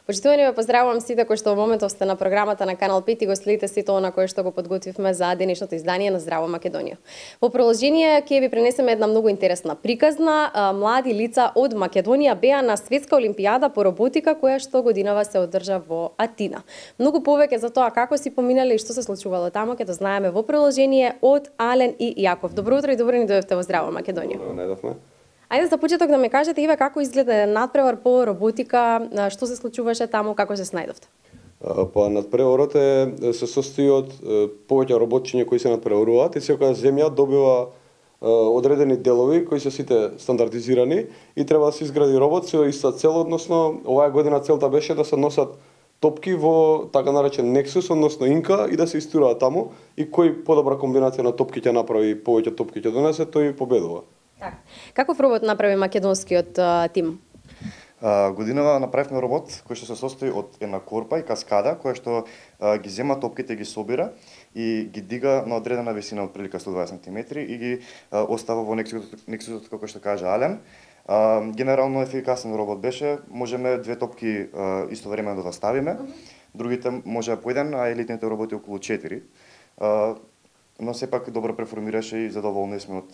Почитувани ве поздравувам сите кои што во моментов сте на програмата на Канал 5 и го следите сите она кое што го подготвивме за денешното издание на Здраво Македонија. Во продолжение ќе ви пренесеме една многу интересна приказна. Млади лица од Македонија беа на Светска олимпијада по роботика која што годинава се одржа во Атина. Многу повеќе за тоа како си поминале и што се случувало таму ќе да знаеме во продолжение од Ален и Јаков. Добро утро и добро ни дојдовте во Здраво Македонија. Ајде за почеток да ме кажете, Иве, како изгледа надпревар по роботика, што се случуваше таму, како се снајдовте? Па надпреварот се состои од повеќе роботчиња кои се надпреваруваат и секоја земја добива одредени делови кои се сите стандардизирани и треба да се изгради робот со иста цел, односно оваа година целта беше да се носат топки во така наречен Nexus, односно Инка, и да се истураат таму и кој подобра комбинација на топки ќе направи, повеќе топки ќе донесе, тој победува. Так. Каков робот направи македонскиот тим? Годинава направивме робот кој што се состои од една корпа и каскада која што ги зема топките, ги собира и ги дига на одредена висина од прилика 120 см и ги остава во Nexusот како што кажа Ален. Генерално ефикасен робот беше, можеме две топки истовремено да ставиме, другите може по еден, а елитните роботи околу 4. Но сепак добро перформираше и задоволни сме од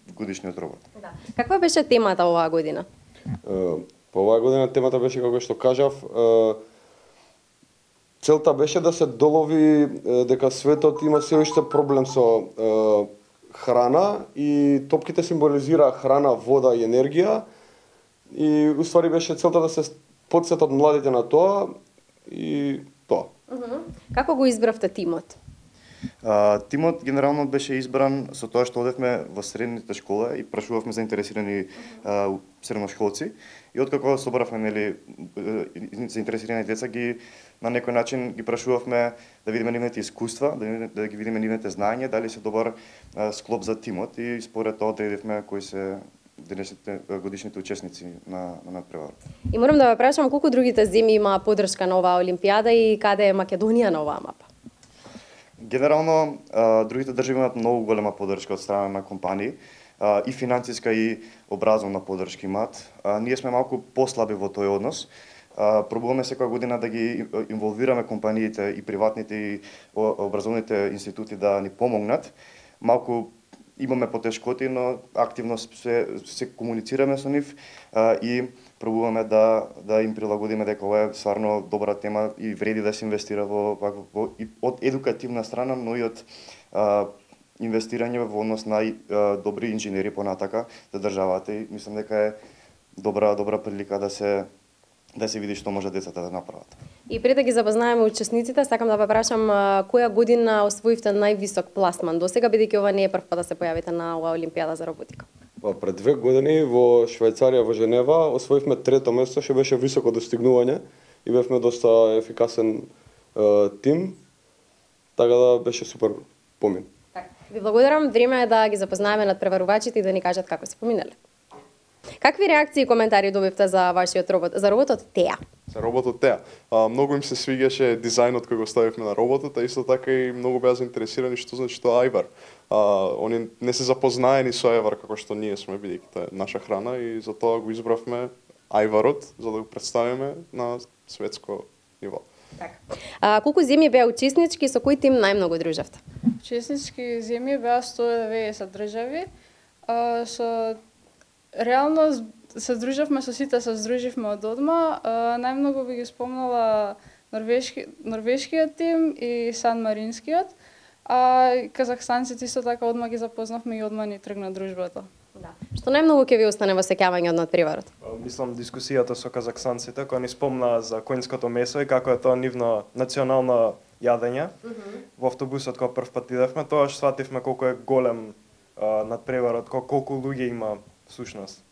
годишниот робот. Да. Каква беше темата оваа година? По оваа година темата беше како што кажав, целта беше да се долови дека светот има се уште проблем со храна и топките символизира храна, вода и енергија и уствари беше целта да се потсетат младите на тоа и тоа. Како го избравте тимот? Тимот генерално беше избран со тоа што одевме во средните школа и прашувавме заинтересирани средношколци и откако собравме заинтересирани деца ги на некој начин ги прашувавме да видиме нивните искуства, да ги видиме нивните знаења, дали се добар склоп за тимот и според тоа одредивме кои се денешните годишните учесници на надпреварот. И морам да ве прашам колку другите земји имаа поддршка на оваа олимпијада и каде е Македонија на оваа мапа? Генерално, другите држави имаат многу голема поддршка од страна на компании, и финансиска и образовна поддршка имаат. Ние сме малку послаби во тој однос. Пробуваме секоја година да ги инволвираме компаниите и приватните и образовните институти да ни помогнат. Малку имаме потешкоти, но активно се комуницираме со нив и пробуваме да им прилагодиме дека ова е стварно добра тема и вреди да се инвестира и од едукативна страна, но и од инвестирање во однос на добри инженери понатака за државата и мислам дека е добра прилика да се види што може децата да направат. И пред да ги запознаеме учесниците, сакам да ве прашам која година освоивте највисок пласман досега, бидејќи ова не е прв пат да се појавите на оваа олимпијада за роботика? Па пред 2 години во Швајцарија во Женева освоивме 3-то место, што беше високо достигнување и бевме доста ефикасен тим, така да беше супер помин. Ви благодарам, време е да ги запознаеме надпреварувачите и да ни кажат како се поминале. Какви реакции и коментари добивте за вашиот робот, за роботот Теа? За роботот Теа. Многу им се свигаше дизајнот кој го ставивме на роботот, а исто така и многу беа заинтересирани што значи тоа Ајвар. Они не се запознаени со Ајвар како што ние сме, бидејќи тоа е наша храна и затоа го избравме Ајварот за да го представиме на светско ниво. Така. Колку земји беа учеснички и со кој тим најмногу дружевте? Учеснички земји беа 190 држави. Реално се здружевме со сите, се здруживме од одма. Најмногу би ги спомнала норвешкиот тим и санмаринскиот. А казахстанците исто така одма ги запознавме и одма ни тргна дружбата. Да. Што најмногу ќе ви остане во сеќавање од надпреварот? Мислам дискусијата со казахстанците која ни спомна за коњското месо и како е тоа нивно национално јадење. Во автобусот кога прв пат идевме, тоа што свативме колку е голем надпреварот, колку луѓе има всушност.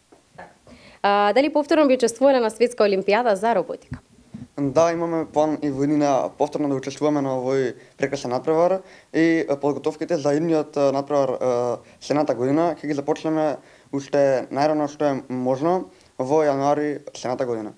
Дали повторно би учествувале на Светска олимпијада за роботика? Да, имаме план и во иднина повторно да учествуваме на овој прекрасен надпревар и подготовките за идниот надпревар следната година ќе ги започнеме уште најрано што е можно во јануари следната година.